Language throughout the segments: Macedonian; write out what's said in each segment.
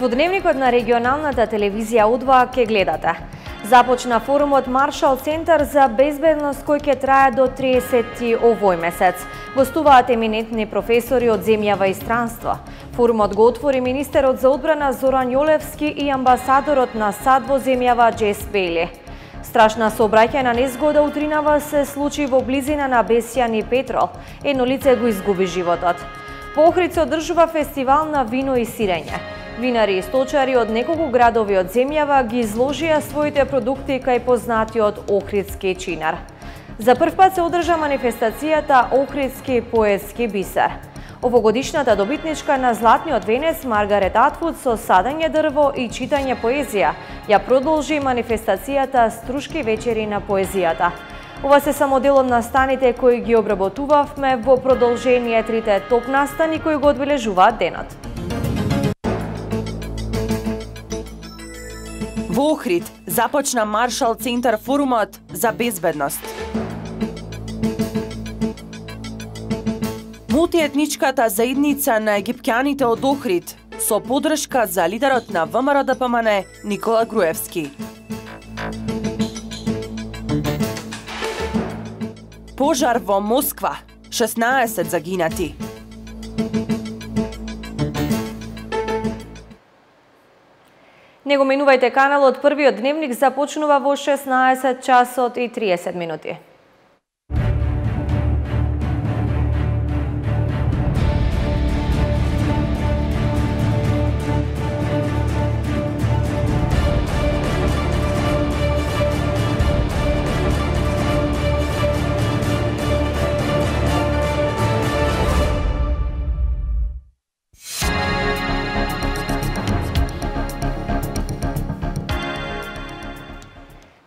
Во дневникот на регионалната телевизија У2 ке гледате. Започна форумот Маршал Центар за безбедност кој ќе трае до 30 овој месец. Гостуваат еминентни професори од земјава и странство. Форумот го отвори министерот за одбрана Зоран Јолевски и амбасадорот на САД во земјава Джес Бейли. Страшна сообраќајна незгода утринава се случи во близина на Бесјан и Петрол. Едно лице го изгуби животот. Во Охрид се одржува фестивал на вино и сирење. Винари и сточари од неколку градови од земјава ги изложија своите продукти кај познатиот Охридски чинар. За прв пат се одржа манифестацијата Охридски поетски бисер. Овогодишната добитничка на Златниот венец Маргарет Атвуд со садење дрво и читање поезија ја продолжи манифестацијата Струшки вечери на поезијата. Ова се само дел од настаните кои ги обработувавме во продолжение трите топ настани кои го одбележуваат денот. Во Охрид започна Маршал Центар форумот за безбедност. Мултиетничката заедница на египќаните од Охрид со поддршка за лидерот на ВМРО-ДПМН Никола Груевски. Пожар во Москва, 16 загинати. Не го менувајте каналот, првиот дневник започнува во 16 часот и 30 минути.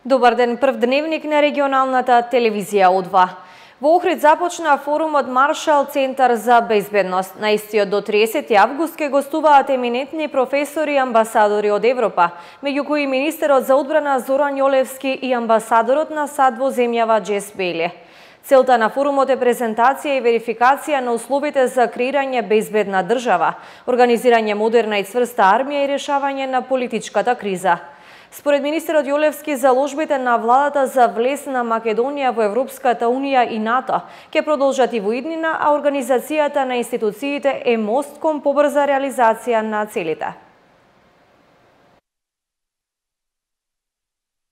Добар ден, прв дневник на регионалната телевизија У2. Во Охрид започна форумот Маршал Центар за безбедност. На истиот до 30 август ке гостуваат еминентни професори и амбасадори од Европа, меѓу кои министерот за одбрана Зоран Јолевски и амбасадорот на САД во земјава Джес Бейли. Целта на форумот е презентација и верификација на условите за креирање безбедна држава, организирање модерна и цврста армија и решавање на политичката криза. Според министерот Јолевски, заложбите на владата за влез на Македонија во Европската Унија и НАТО ќе продолжат и во иднина, а организацијата на институциите е мост кон побрза реализација на целите.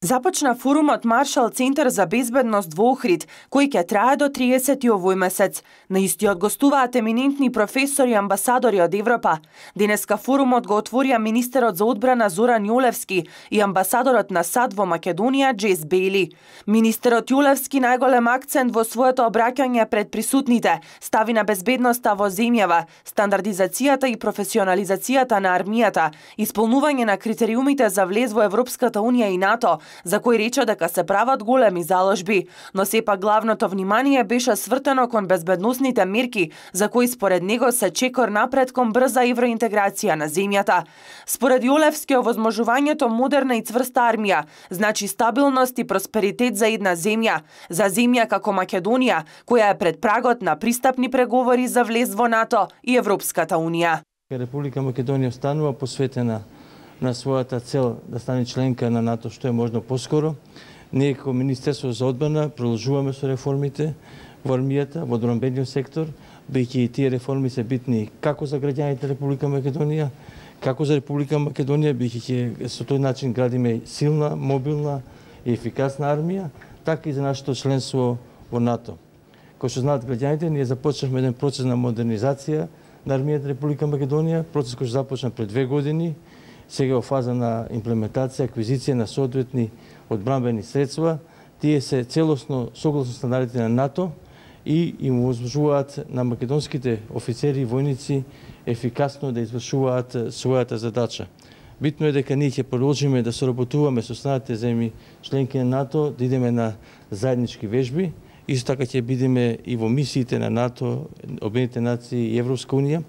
Започна форумот Маршал Центар за безбедност во Охрид, кој ќе трае до 30 овој месец. На истиот гостуваат еминентни професори и амбасадори од Европа. Денеска форумот го отворија министерот за одбрана Зоран Јолевски и амбасадорот на САД во Македонија Джес Бейли. Министерот Јолевски најголем акцент во своето обраќање пред присутните стави на безбедноста во земјава, стандардизацијата и професионализацијата на армијата, исполнување на критериумите за влез во Европската Унија и НАТО, за кој рече дека се прават големи заложби, но сепак главното внимание беше свртено кон безбедносните мерки, за кои според него се чекор напред кон брза евроинтеграција на земјата. Според Јолевски, овозможувањето модерна и цврста армија значи стабилност и просперитет за една земја, за земја како Македонија, која е пред прагот на пристапни преговори за влез во НАТО и Европската Унија. Република Македонија останува посветена на својата цел да стане членка на НАТО што е можно поскоро. Ние како Министерство за одбрана продолжуваме со реформите во армијата, во одбранбениот сектор, бидејќи и тие реформи се битни како за граѓаните Република Македонија, како за Република Македонија, бидејќи со тој начин градиме силна, мобилна и ефикасна армија, така и за нашето членство во НАТО. Кој што знаат граѓаните, ние започнавме еден процес на модернизација на армијата Република Македонија, процес кој што започна пред 2 години, сега во фаза на имплементација, аквизиција на соодветни одбранбени средства. Тие се целосно согласно стандардите на НАТО и им овозможуваат на македонските офицери и војници ефикасно да извршуваат својата задача. Битно е дека ние ќе продолжиме да соработуваме со останатите земји членки на НАТО, да идеме на заеднички вежби. Исто така ќе бидеме и во мисиите на НАТО, Обединетите нации и Европска Унија,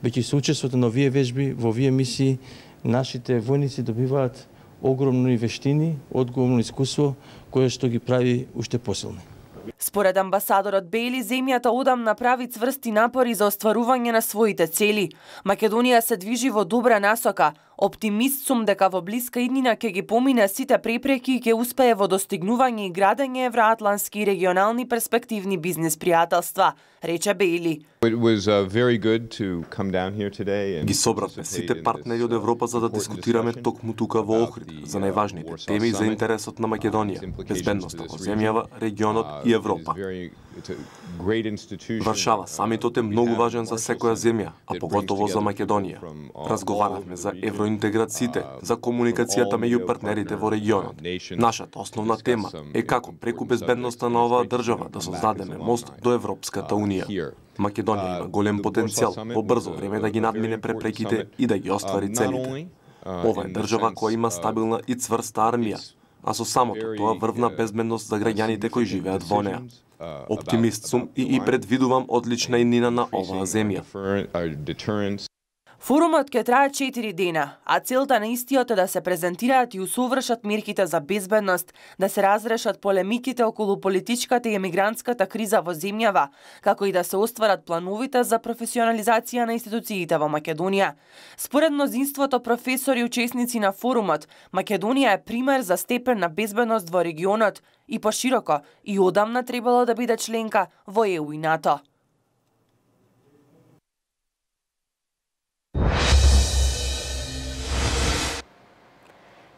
веќе со учеството на овие вежби, во овие мисии, нашите војници добиваат огромни вештини, одговорно искуство, кое што ги прави уште посилни. Според амбасадорот Бейли, земјата одам направи цврсти напори за остварување на своите цели. Македонија се движи во добра насока, Оптимист сум дека во блиска иднина ќе ги помине сите препреки и ќе успее во достигнување и градење евроатлански и регионални перспективни бизнес пријателства, рече Бейли. Ги собравме сите партнери од Европа за да дискутираме токму тука во Охрид за најважните теми за интересот на Македонија, безбедноста во земјава, регионот и Европа. Варшава самитот е многу важен за секоја земја, а поготово за Македонија. Разговаравме за евроинтеграциите, за комуникацијата меѓу партнерите во регионот. Нашата основна тема е како преку безбедноста на оваа држава да создадеме мост до Европската унија. Македонија има голем потенцијал во брзо време да ги надмине препреките и да ги оствари целите. Ова е држава која има стабилна и цврста армија, а со самото тоа врвна безбедност за граѓаните кои живеат во неа. Оптимист сум и предвидувам одлична иднина на оваа земја. Форумот ќе трае 4 дена, а целта на истиот е да се презентираат и усовршат мерките за безбедност, да се разрешат полемиките околу политичката и емигрантската криза во земјава, како и да се остварат плановите за професионализација на институциите во Македонија. Според мнозинството професори и учесници на форумот, Македонија е пример за степен на безбедност во регионот и пошироко и одамна требало да биде членка во ЕУ и НАТО.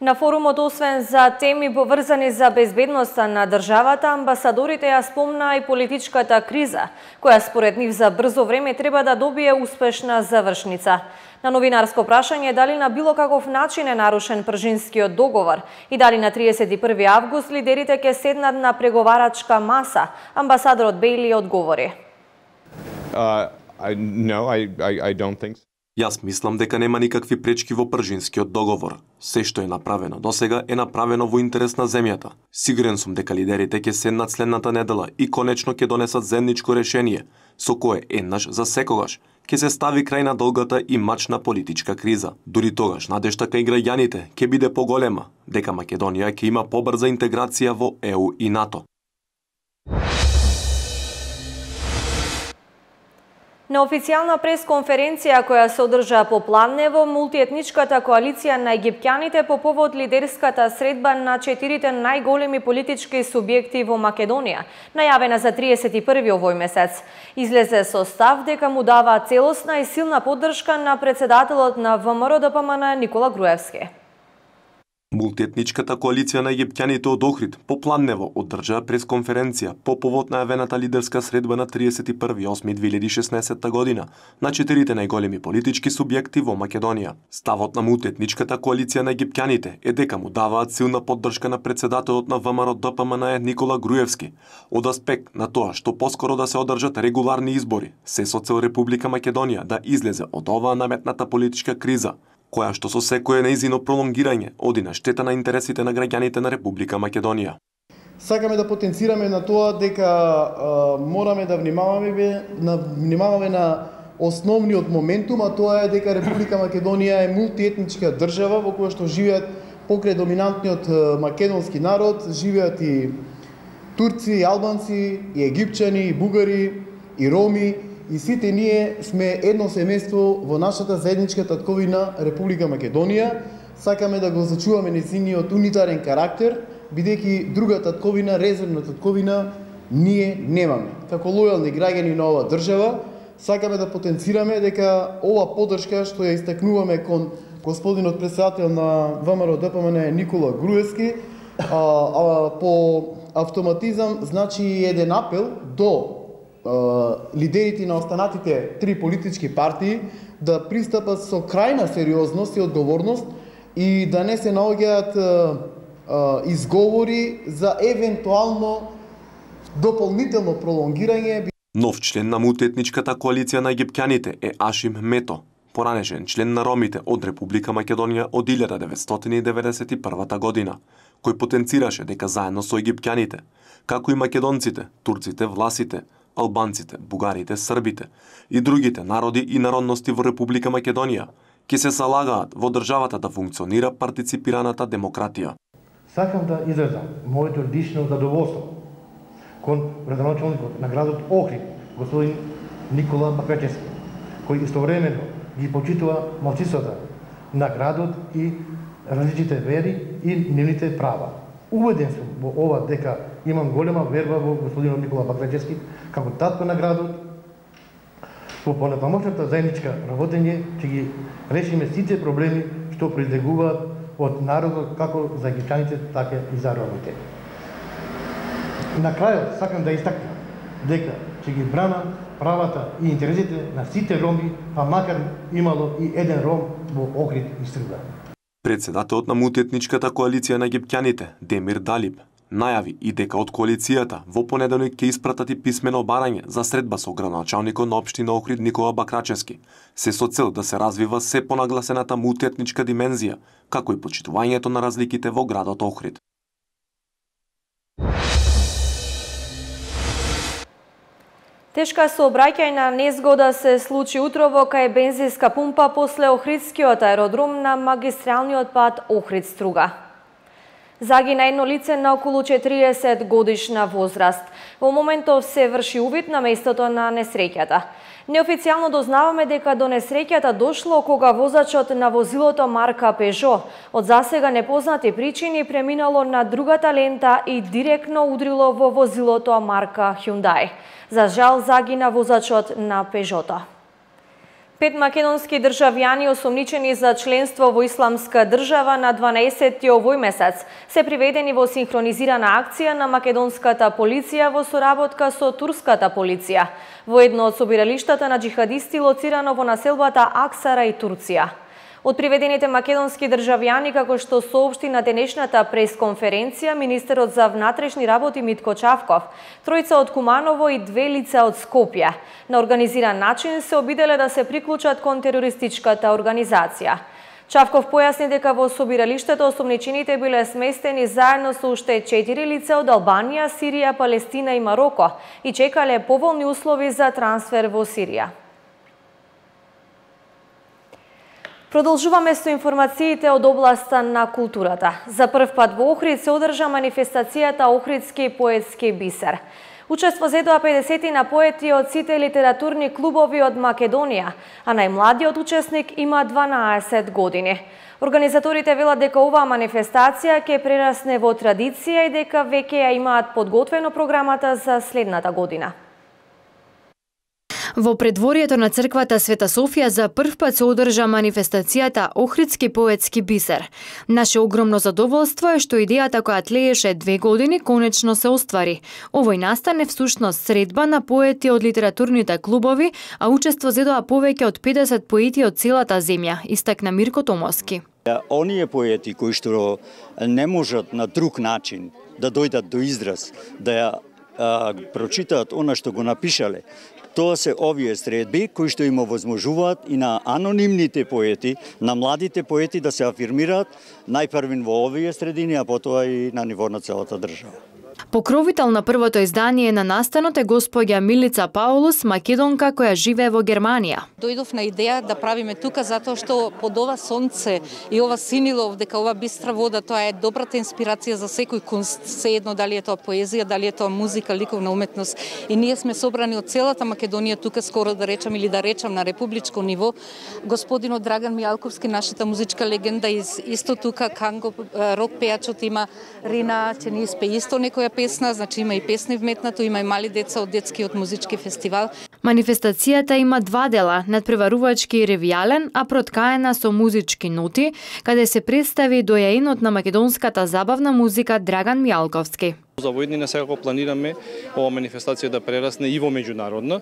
На форумот, освен за теми поврзани за безбедноста на државата, амбасадорите ја спомнаа и политичката криза, која според нив за брзо време треба да добие успешна завршница. На новинарско прашање дали на било каков начин е нарушен Пржинскиот договор и дали на 31 август лидерите ќе седнат на преговарачка маса, амбасадорот Бейли одговори. Јас мислам дека нема никакви пречки во Пржинскиот договор. Се што е направено досега е направено во интерес на земјата. Сигурен сум дека лидерите ќе седнат следната недела и конечно ќе донесат заедничко решение, со кое еднаш за секогаш ќе се стави крај на долгата и мачна политичка криза. Дури тогаш надежта кај граѓаните ќе биде поголема, дека Македонија ќе има побрза интеграција во ЕУ и НАТО. На официјална пресконференција која се одржа по Планево, мултиетничката коалиција на египтјаните по повод лидерската средба на 4 најголеми политички субјекти во Македонија, најавена за 31 овој месец, излезе со став дека му дава целосна и силна поддршка на председателот на ВМРО-ДПМН Никола Груевски. Мултиетничката коалиција на египтјаните од Охрид по Планево одржа пресконференција по повод најавената лидерска средба на 31.8.2016 година на 4 најголеми политички субјекти во Македонија. Ставот на мултиетничката коалиција на египтјаните е дека му даваат силна поддршка на председателот на ВМРО-ДПМН Никола Груевски од аспект на тоа што поскоро да се одржат регуларни избори, се со цел Република Македонија да излезе од оваа наметната политичка криза, која што со секое нејзино пролонгирање оди на штета на интересите на граѓаните на Република Македонија. Сакаме да потенцираме на тоа дека мораме да внимаваме на основниот моментум, а тоа е дека Република Македонија е мултиетничка држава во која што живеат покрај доминантниот македонски народ, живеат и турци, и албанци, и египчани, и бугари, и роми. И сите ние сме едно семејство во нашата заедничка татковина Република Македонија. Сакаме да го зачуваме нејзиниот унитарен карактер, бидејќи друга татковина, резервна татковина, ние немаме. Како лојални граѓани на оваа држава, сакаме да потенцираме дека ова поддршка што ја истакнуваме кон господинот председател на ВМРО-ДПМН Никола Груевски, по автоматизам значи еден апел до лидерите на останатите 3 политички партии да пристапат со крајна сериозност и одговорност и да не се наоѓаат изговори за евентуално дополнително пролонгирање. Нов член на мултиетничката коалиција на египтјаните е Ашим Мето, поранешен член на ромите од Република Македонија од 1991 година, кој потенцираше дека заедно со египтјаните, како и македонците, турците, власите, албанците, бугарите, србите и другите народи и народности во Република Македонија ќе се залагаат во државата да функционира партиципираната демократија. Сакам да изразам моето лично задоволство кон градоначалникот на градот Охрид, господин Никола Папечевски, кој истовремено ги почитува малцинствата на градот и различните вери и нивните права. Убеден сум во ова дека имам голема верба во господинот Никола Бакрачевски како татко на градот. Во понатамошната заедничка работење ќе ги решиме сите проблеми што произлегуваат од народот како за египтяните, така и за ромите. На крајот сакам да истакнам дека ќе ги брана правата и интересите на сите роми, па макар имало и еден ром во Охрид и Струда. Председателот на мултиетничката коалиција на египтјаните, Демир Далиб, најави и дека од коалицијата во понеделник ќе испратат и писмено барање за средба со градоначалникот на општина Охрид Никола Бакрачевски, се со цел да се развива се понагласената мултиетничка димензија, како и почитувањето на разликите во градот Охрид. Тешка сообраќајна незгода се случи утрово кај бензинска пумпа после Охридскиот аеродром на магистралниот пат Охрид-Струга. Загина едно лице на околу 40 годишна возраст. Во моментов се врши увид на местото на несреќата. Неофицијално дознаваме дека до несреќата дошло кога возачот на возилото марка Peugeot од засега непознати причини преминало на другата лента и директно удрило во возилото марка Hyundai. За жал загина возачот на Peugeot-то. 5 македонски државјани осомничени за членство во исламска држава на 12-ти овој месец се приведени во синхронизирана акција на македонската полиција во соработка со турската полиција во едно од собиралиштата на џихадисти лоцирано во населбата Аксара и Турција. Од приведените македонски државјани, како што соопшти на денешната пресконференција министерот за внатрешни работи Митко Чавков, тројца од Куманово и 2 лица од Скопје, на организиран начин се обиделе да се приклучат кон терористичката организација. Чавков појасни дека во собиралиштето осомничените биле сместени заедно со уште 4 лица од Албанија, Сирија, Палестина и Мароко и чекале поволни услови за трансфер во Сирија. Продолжуваме со информациите од областа на културата. За прв пат во Охрид се одржа манифестацијата Охридски поетски бисер. Учество зедоа 50 поети од сите литературни клубови од Македонија, а најмладиот учесник има 12 години. Организаторите велат дека оваа манифестација ќе прерасне во традиција и дека веќе ја имаат подготвено програмата за следната година. Во предворието на црквата Света Софија за прв пат се одржа манифестацијата Охридски поетски бисер. Наше огромно задоволство е што идејата која тлееше 2 години конечно се оствари. Овој настане всушност средба на поети од литературните клубови, а учество зедоа повеќе од 50 поети од целата земја, истакна Мирко Томовски. Оние поети кои што не можат на друг начин да дојдат до израз, да ја прочитаат она што го напишале, тоа се овие средби кои што им овозможуваат и на анонимните поети, на младите поети да се афирмираат најпрвин во овие средини, а потоа и на ниво на целата држава. Покровител на првото издание на настанот е господја Милица Паулус, македонка која живее во Германија. Дојдов на идеја да правиме тука затоа што под ова сонце и ова синилов, дека ова бистра вода, тоа е добрата инспирација за секој кунст, sejedno дали е тоа поезија, дали е тоа музика, ликовна уметност. И ние сме собрани од целата Македонија тука, скоро да речам или да речам на републичко ниво. Господинот Драган Мијалковски, нашата музичка легенда, исто тука Канго, рок пејачот има Рина, ќе ни испее исто некоја песна, значи има и песни вметнато, има и мали деца од детскиот музички фестивал. Манифестацијата има 2 дела, надпреварувачки и ревијален, а проткаена со музички ноти, каде се представи дојаинот на македонската забавна музика Драган Мијалковски. За воиднина секако планираме ова манифестација да прерасне и во меѓународна.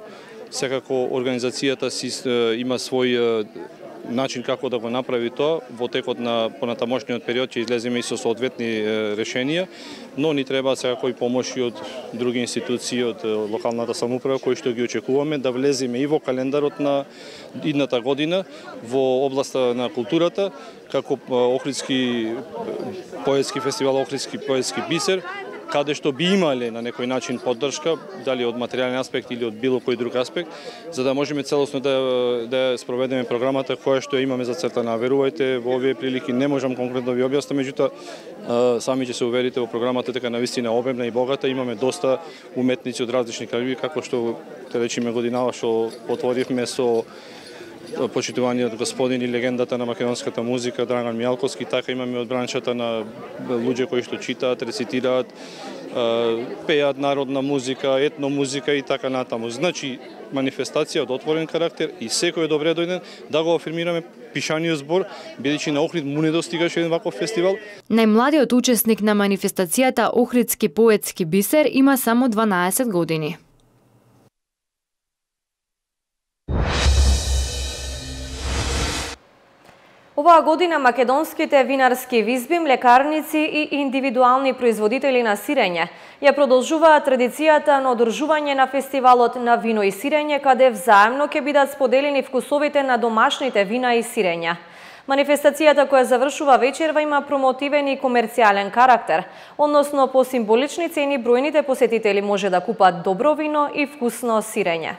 Секако организацијата си има свој начин како да го направи тоа. Во текот на понатамошниот период ќе излеземе и со соодветни решенија, но ни треба секако и помоши од други институции, од локалната самоуправа, кои што ги очекуваме да влеземе и во календарот на идната година во областа на културата, како Охридски поетски фестивал, Охридски поетски бисер, каде што би имале на некој начин поддршка, дали од материјален аспект или од било кој друг аспект, за да можеме целосно да спроведеме програмата која што имаме зацртана. Верувајте, во овие прилики не можам конкретно да ви објаснам, меѓутоа сами ќе се уверите во програмата дека навистина обемна и богата, имаме доста уметници од различни крајеви, како што те речиме годинава што отворивме со почитуваниот господин и легендата на македонската музика Драган Мијалковски, така имаме од браншата на луѓе кои што читаат, рецитираат, пеат народна музика, етномузика и така натаму. Значи, манифестација од отворен карактер и секој е добре дојден да го афирмираме пишаниот збор, бидејќи на Охрид му не достигаше еден ваков фестивал. Најмладиот учесник на манифестацијата Охридски поетски бисер има само 12 години. Оваа година македонските винарски визби, млекарници и индивидуални производители на сирење ја продолжуваат традицијата на одржување на фестивалот на вино и сирење, каде взаемно ќе бидат споделени вкусовите на домашните вина и сирења. Манифестацијата која завршува вечерва има промотивен и комерцијален карактер, односно по символични цени бројните посетители може да купат добро вино и вкусно сирење.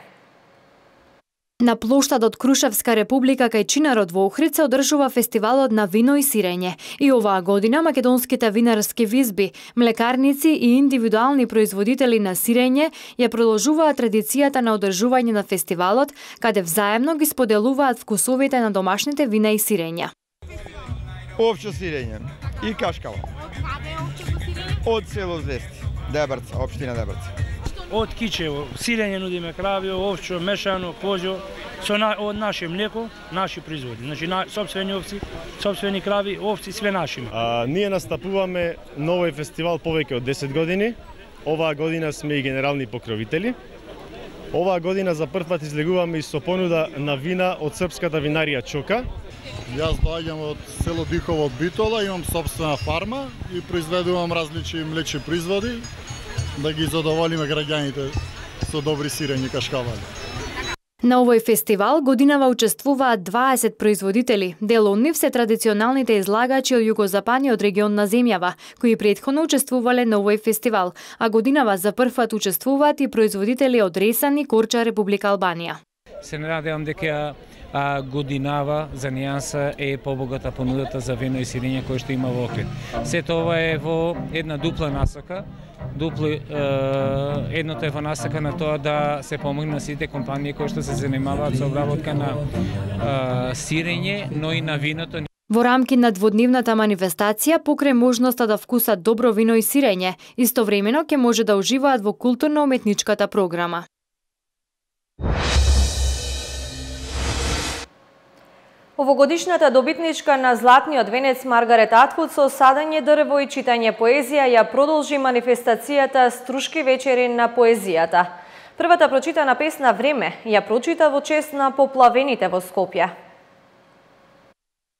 На плоштадот Крушевска република кај Чинарот во Охрид се одржува фестивалот на вино и сирење. И оваа година македонските винарски визби, млекарници и индивидуални производители на сирење ја продолжуваат традицијата на одржување на фестивалот, каде взаемно ги споделуваат вкусовите на домашните вина и сирења. Овче сирење и кашкава. Од село Звести, Дебрца, општина Дебрца. Од Кичево, сирење нудиме кравио, овчо, мешано, козјо, од наше млеко, наши производи. Значи, сопствени овци, сопствени крави, овци, све наши. Ние настапуваме новој фестивал повеќе од 10 години. Оваа година сме и генерални покровители. Оваа година за прв пат излегуваме и со понуда на вина од српската винарија Чока. Јас доаѓам од село Дихово од Битола, имам собствена фарма и произведувам различни млечни производи, да ги задоволиме граѓаните со добри сирења кашкавали. На овој фестивал годинава учествуваат 20 производители. Дел од нив се традиционалните излагачи од југозападниот регион на земјава, кои претходно учествувале на овој фестивал, а годинава за прв пат учествуваат и производители од Ресан и Корча, Република Албанија. Се надевам дека годинава за нијанса е побогата понудата за вино и сирење кој што има во Охрид. Сето ова е во една дупла насока. Едното е во насока на тоа да се помогне на сите компании кои што се занимаваат со обработка на сирење, но и на виното. Во рамки на дводневната манифестација, покрај можноста да вкусат добро вино и сирење, истовремено ќе може да уживаат во културно-уметничката програма. Овогодишната добитничка на Златниот венец Маргарет Атвуд со садење дрво и читање поезија ја продолжи манифестацијата Струшки вечери на поезијата. Првата прочитана песна Време ја прочита во чест на поплавените во Скопје.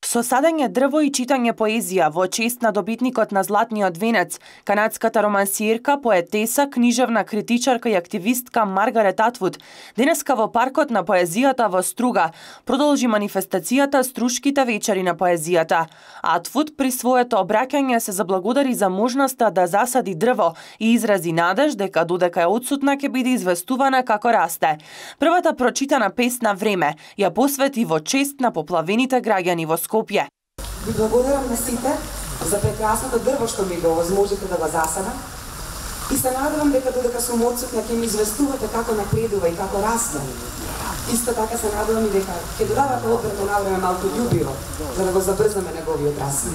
Со садење дрво и читање поезија во чест на добитникот на Златниот венец, канадската романсиерка, поетеса, книжевна критичарка и активистка Маргарет Атвуд денеска во паркот на поезијата во Струга продолжи манифестацијата Струшките вечери на поезијата. Атвуд при своето обраќање се заблагодари за можноста да засади дрво и изрази надеж дека додека е отсутна ќе биде известувана како расте. Првата прочитана песна Време ја посвети во чест на поплавените граѓани во Скопје. Ви благодарам на сите за прекрасното дрво што ми го овозможите да го засадам и се надевам дека додека сум отсутна ќе ми известувате како напредува и како расте. Исто така се надевам и дека ќе додавате одбрано навреме малку љубиво за да го забрзаме неговиот раст.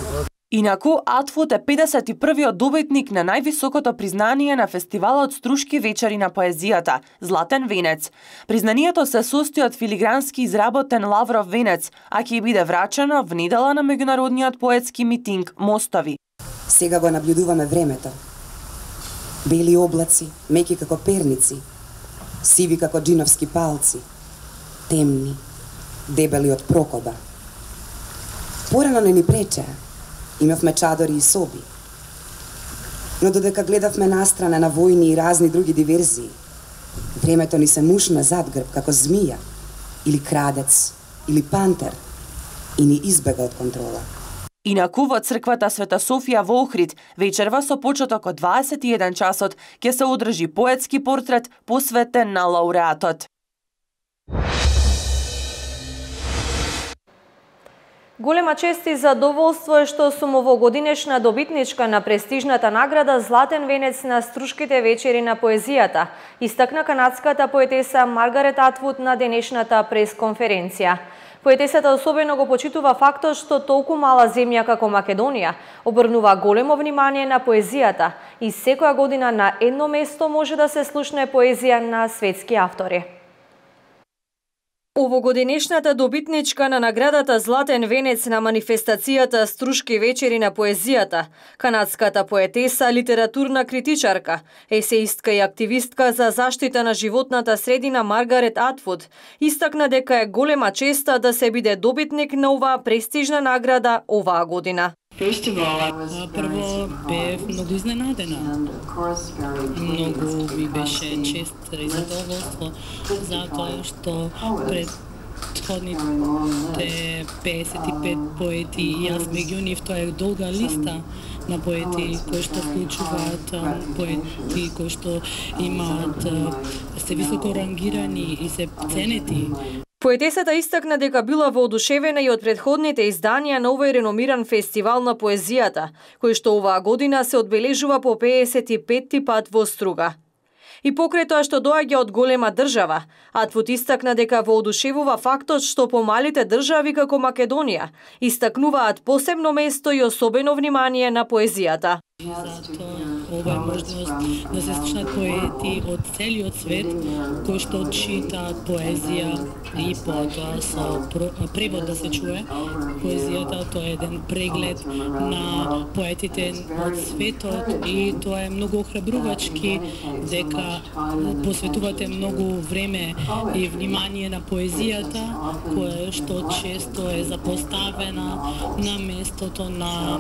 Инаку, Атвуд е 51-виот добитник на највисокото признание на фестивалот Струшки вечери на поезијата – Златен венец. Признанието се состои од филигрански изработен лавров венец, а ќе биде врачено в недела на меѓународниот поетски митинг Мостови. Сега го наблюдуваме времето. Бели облаци, меки како перници, сиви како джиновски палци, темни, дебели од прокоба. Порано не ни пречеа. Имавме чадори и соби. Но додека гледавме настрана на војни и разни други диверзии, времето ни се мушна зад грб како змија, или крадец, или пантер, и ни избега од контрола. Инаку во црквата Света Софија во Охрид, вечерва со почеток од 21 часот, ќе се одржи поетски портрет посветен на лауреатот. Голема чест и задоволство е што сум овогодинешна добитничка на престижната награда Златен венец на Струшките вечери на поезијата, истакна канадската поетеса Маргарет Атвуд на денешната пресконференција. Поетесата особено го почитува фактот што толку мала земја како Македонија обрнува големо внимание на поезијата и секоја година на едно место може да се слушне поезија на светски автори. Овогодинешната добитничка на наградата Златен венец на манифестацијата Струшки вечери на поезијата, канадската поетеса, литературна критичарка, есеистка и активистка за заштита на животната средина Маргарет Атвуд, истакна дека е голема честа да се биде добитник на оваа престижна награда оваа година. Прво бев многу изненадена. Многу ми беше чест и задоволство, затоа што предходните 55 поети и јас меѓу нив, тоа е долга листа на поети кои што вклучуваат поети кои што имаат се високо рангирани и се ценети. Поетесата истакна дека била воодушевена и од предходните изданија на овој реномиран фестивал на поезијата, кој што оваа година се одбележува по 55-ти пат во Струга. И покрај тоа што доаѓа од голема држава, Атвуд истакна дека воодушевува фактот што помалите држави како Македонија истакнуваат посебно место и особено внимание на поезијата. Затоа ова е можност да се слушнат поети од целиот свет кои што читаат поезија и потоа со превод да се чуе поезијата. Тоа е еден преглед на поетите од светот и тоа е многу охрабрувачки дека посветувате многу време и внимание на поезијата, која што често е запоставена на местото на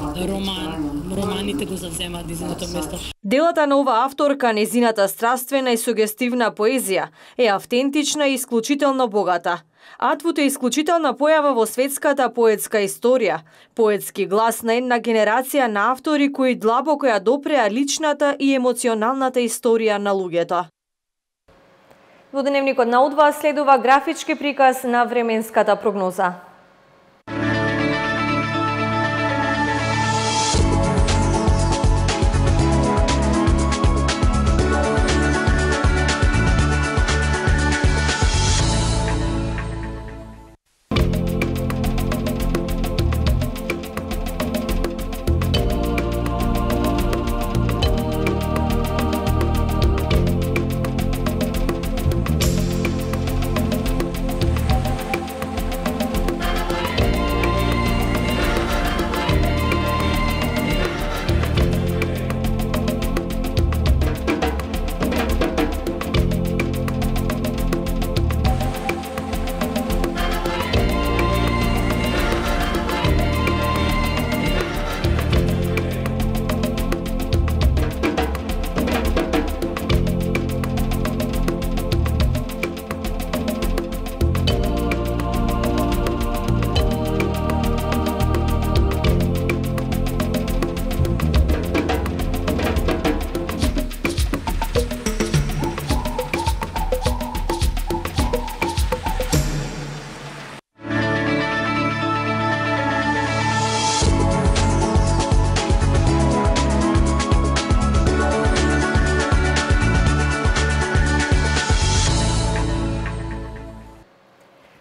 романите го завземаат низиното место. Делата на оваа авторка, незината страствена и сугестивна поезија е автентична и исклучително богата. Атвуд е исклучителна појава во светската поетска историја, поетски глас на една генерација на автори кои длабоко ја допреа личната и емоционалната историја на луѓето. Во деневникот на Удва следува графички приказ на временската прогноза.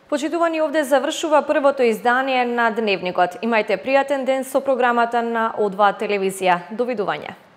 Почитувани, овде завршува првото издание на Дневникот. Имајте пријатен ден со програмата на О2 телевизија. Довидување.